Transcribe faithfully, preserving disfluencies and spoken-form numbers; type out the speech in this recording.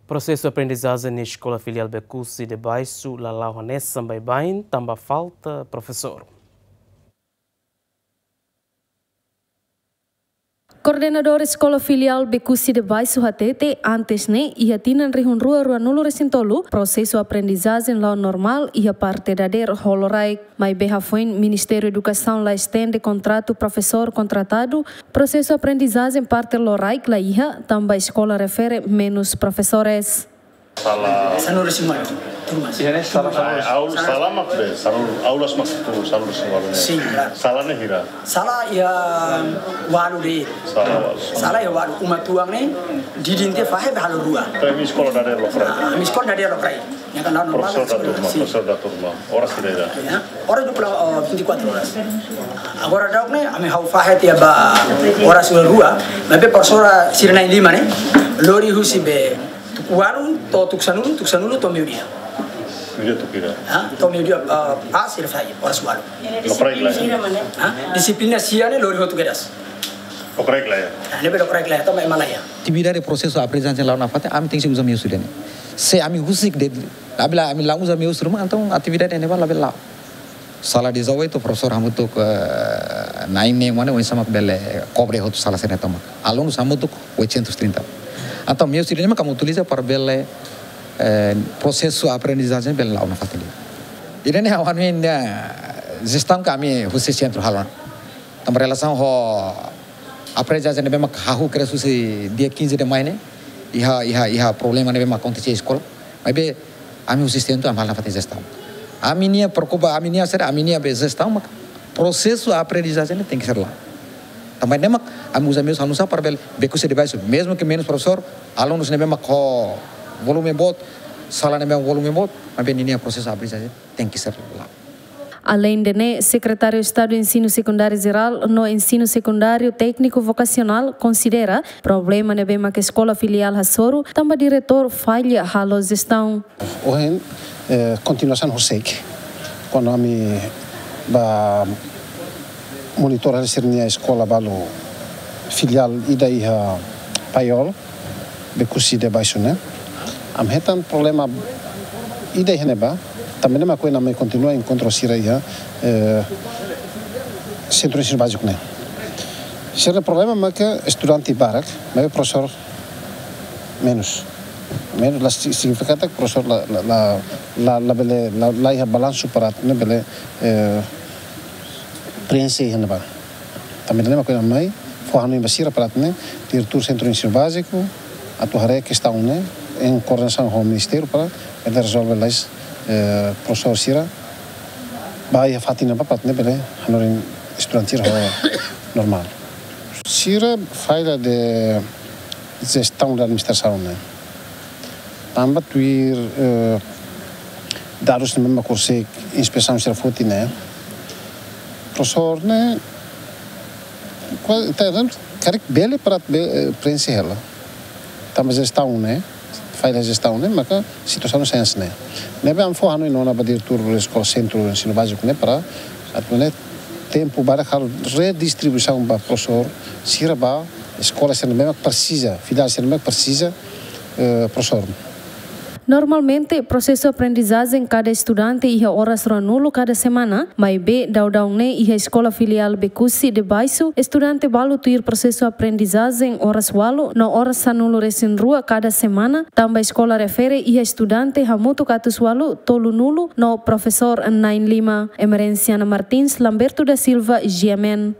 Prosesu aprendizajen iha Eskola Filiál Becusse de Baixo la la'o hanesan baibain tanba falta profesór. Koordenadór Eskola Filiál Becusse de Baixo hatete, antes ne'e, iha tinan rihun rua ruanulu resin tolu, prosesu aprendizajen la'o normál iha parte dadeer ho loraik. Maibé hafoin Ministériu Edukasaun la estende kontratu profesór kontratadu, prosesu aprendizajen parte loraik la iha, tanba eskola refere menus profesores. Sala. Sanulu resin ualu turmas. Iha ne'e sala, sala. Aul-, sala mak be, sala, aulas mak tu, sala resin ualu ne'e. Sin, klaru. Sala ne'e hira? Sala iha ualu de'it. Sala ualu. Sala iha ualu, uma tuan ne'e, didin tiha fahe be halo rua. Tapi ami eskola dadeer lokraik. Ah, ami eskola dadeer lokraik. Ne'e kan la'o normál, profesór dah turma, sin. Profesór dah turma. Oras hira? Ya, oras dua puluh, oh, vinte e quatro horas. Agora daudaun ne'e, ami ha'u fahe tiha ba oras ualu rua, maibé profesora sira na'in-lima ne'e, lori husi be tuku ualu, to'o tuku sanulu, tuku sanulu to'o meiudia. Meiudia tuku hira? Ha? To'o meiudia, eh, pas sira fahe, oras ualu. Lokraik lae? Ha? Dixiplina sia ne'e lori hotu kedas. Lokraik lae? Ah, ne'ebé lokraik lae, to'o mai malaia. Atividade prosesu aprendizajen la'o nafatin, ami tenke uza meius ida-ne'e. Se ami husik de'it, apabila ami la uza meius ruma, entaun atividade ne'ebá labele la'o. Sala dezoito, profesór hamutuk, eh, na'in-neen mak ne'e, oinsá mak bele kobre hotu sala sira-ne'e tomak. Alunus hamutuk oitocentos e trinta. Entaun, meius ida-ne'e mak ami utiliza para bele, eh, prosesu aprendizajen bele la'o nafatin. Ida-ne'e ha'u hanoin, eh, jestaun ke ami husi sentru halo. Tanba relasaun ho aprendizajen ne'ebé mak hahú kedas husi dia quinze de maio ne'e, iha, iha, iha problema ne'ebé mak akontese iha eskola. Maibé ami husi sentru ami halo nafatin jestaun. Ami-nia preokupa, ami-nia sede, ami-nia be jestaun mak prosesu aprendizajen ne'e tenke ser la'o. Tanba ne'e mak ami uza meius hanesan para bele Becusse de Baixo, mezmu ke menus profesór, alunus ne'ebé mak ho volume boot, sala ne'ebé mak volume boot, maibé ninia prosesu aprendizajen tenke ser la'o. Aleinde ne'e, Sekretáriu Estadu Ensinu Sekundáriu Jerál no Ensinu Sekundáriu Tékniku Vokasionál konsidera problema ne'ebé mak eskola filiál hasoru tanba diretór falla halo jestaun. Ohin, eh, kontinuasaun horiseik, kuandu ami bá monitora sira-nia eskola balu filiál ida iha Paiol, Becusse de Baixo ne'e. Ami hetan problema ida iha ne'ebá, tanba ne'e mak ohin ami kontinua enkontru sira iha, eh, sentru ensinu báziku ne'e. Sira-nia problema mak estudante barak, maibé profesór menus. Menus la si-, signifika katak profesór la, la, la, la, labele, la, la iha balansu para atu nune'e bele, eh, preenxe iha ne'ebá. Tanba ne'e mak ohin ami mai fó hanoin ba sira para atu nune'e diretór sentru ensinu báziku atu haree kestaun ne'e em koordenasaun ho ministériu para bele rezolve lalais, eh, profesór sira ba iha fatin ne'ebá para atu nune'e bele hanorin estudante sira ho normál. Sira falla de jestaun de administrasaun ne'e. Tanba tuir, eh, dadus ne'ebé mak horiseik inspesaun sira foti ne'e, profesór ne'e, kuaze, te, karik bele para be-, eh, preenxe hela. Tanba jestaun ne'e, falla jestaun ne'e, maka situasaun sai hanesan ne'e. Ne'ebé ami fó hanoin ona ba diretór eskola sentru ensinu báziku ne'e para atu nune'e tempu badak halo redistribuisaun ba profesór sira ba eskola sira ne'ebé mak presiza, filiál sira ne'ebé mak presiza, eh, profesór. Normalmente, prosesu aprendizajen kada estudante iha oras ruanulu kada semana, maibé daudaun ne'e iha eskola filiál Becusse de Baixo, estudante balu tuir prosesu aprendizajen oras ualu no oras sanulu resin rua kada semana, tanba eskola refere iha estudante hamutuk atus ualu tolunulu no profesór na'in-lima. Emerenciana Martins, Lamberto da Silva, G M N.